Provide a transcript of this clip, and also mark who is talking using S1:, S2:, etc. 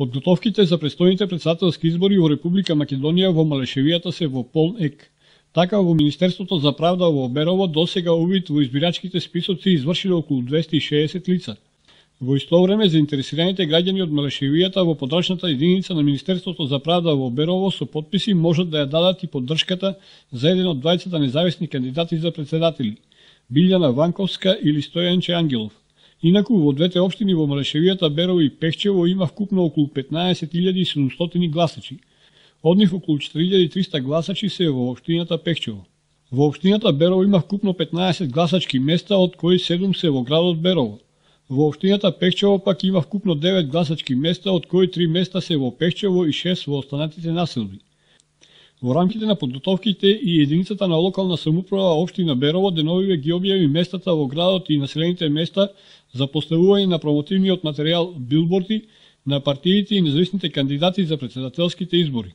S1: Подготовките за престојните претседателски избори во Република Македонија во Малешевијата се во полн ек. Така во Министерството за правда во Берово досега увид во избирачките списоци извршиле околу 260 лица. Во исто време заинтересираните граѓани од Малешевијата во подрачната единица на Министерството за правда во Берово со потписи можат да ја дадат и поддршката за еден од двајцата независни кандидати за председатели, Билјана Ванковска или Стојанче Ангелов. Инаку во двете општини во Малешевијата, Берово и Пехчево има вкупно околу 15.700 гласачи. Од нив околу 4.300 гласачи се во општината Пехчево. Во општината Берово има вкупно 15 гласачки места, од кои 7 се во градот Берово. Во општината Пехчево пак има вкупно 9 гласачки места, од кои 3 места се во Пехчево и 6 во останатите населби. Во рамките на подготовките и единицата на локална самоуправа општина Берово деновиве ги објави местата во градот и населените места за поставување на промотивниот материјал билборди на партиите и независните кандидати за претседателските избори.